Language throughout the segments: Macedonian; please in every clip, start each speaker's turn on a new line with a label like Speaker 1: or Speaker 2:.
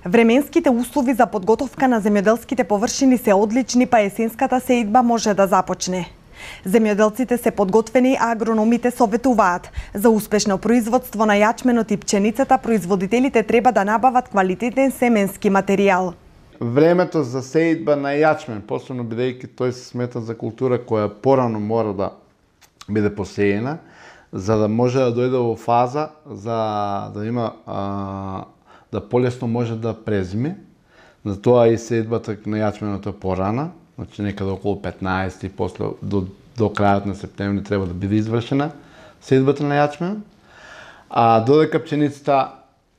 Speaker 1: Временските услови за подготовка на земјоделските површини се одлични, па есенската сеидба може да започне. Земјоделците се подготвени, а агрономите советуваат. За успешно производство на јачменот и пченицата, производителите треба да набават квалитетен семенски материјал.
Speaker 2: Времето за сеидба на јачмен, посебно бидејќи тој се смета за култура која порано мора да биде посеена, за да може да дојде во фаза за да има да полесно може да презиме. Затоа и сеидбата на јачменот е порана, значи некаде околу 15 и после до крајот на септември треба да биде извршена сеидбата на јачмен, а додека пченицата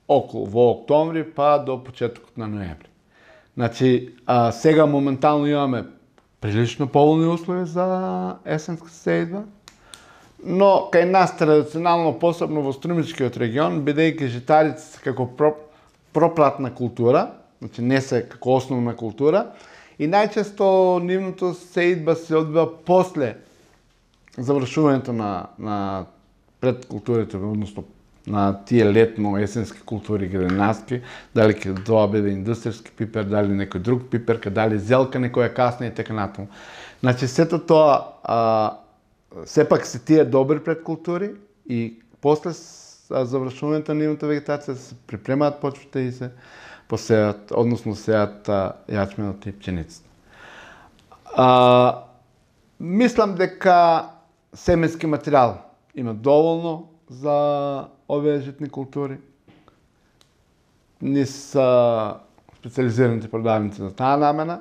Speaker 2: околу во октомври па до почетокот на ноември. Значи, сега моментално имаме прилично поволни услови за есенска сеидба, но кај нас традиционално, посебно во Струмичкиот регион, бидејќи житарици се како проплатна култура, значи не се како основна култура, и најчесто нивното сеидба се одбива после завршувањето на предкултурите, односно на тие летно-есенски култури градинарски, дали ќе тоа биде индустријски пипер, дали некој друг пиперка, дали зелка некоја касна и така натаму. Значи сето тоа сепак се тие добри предкултури и после завршувањето на нивната вегетација се припремаат почвите и се посеат, односно сеат јачменот и пченицата. Мислам дека семенски материјал има доволно за овие житни култури. Ние са специализираните продавници за таа намена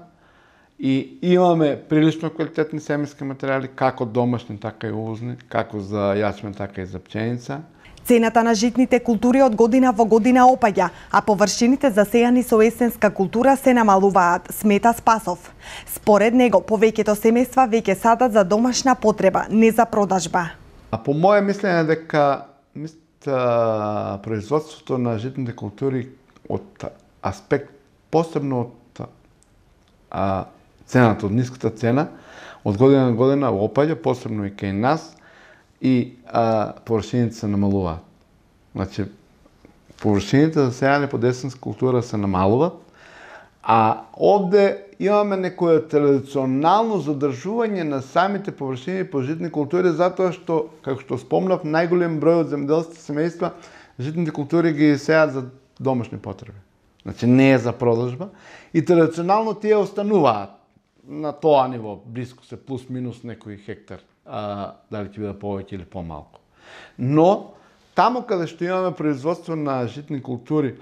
Speaker 2: и имаме прилично квалитетни семенски материјали, како домашни, така и увозни, како за јачмен, така и за пченица.
Speaker 1: Цената на житните култури од година во година опаѓа, а површините засејани со есенска култура се намалуваат, смета Спасов. Според него, повеќето семејства веќе садат за домашна потреба, не за продажба.
Speaker 2: По моје мислење дека производството на житните култури од аспект, посебно од цената, од ниската цена, од година на година опаѓа, посебно и кај нас, и површините се намалуваат. Значи, површините засејани под есенска култура се намалуваат, а овде имаме некоја традиционално задржување на самите површини по житни култури, затоа што, како што спомнав, најголем број од земјоделските семејства житните култури ги сеат за домашни потреби. Значи не е за продажба и традиционално тие остануваат на тоа ниво, близко се плюс-минус некој хектар, дали ќе биде повеќе или помалку. Но таму каде што имаме производство на житни култури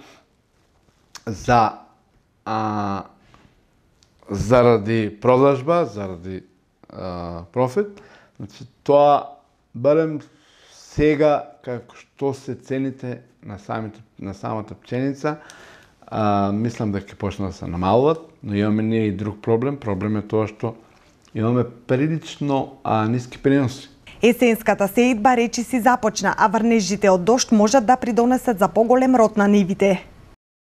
Speaker 2: заради продажба, заради профит, значи тоа барем сега како што се цените на самата пченица, мислам дека ќе почнат да се намалуват, но имаме ние и друг проблем. Проблем е тоа што имаме прилично ниски приноси.
Speaker 1: Есенската сеидба речиси започна, а врнежите од дожд можат да придонесат за поголем род на нивите.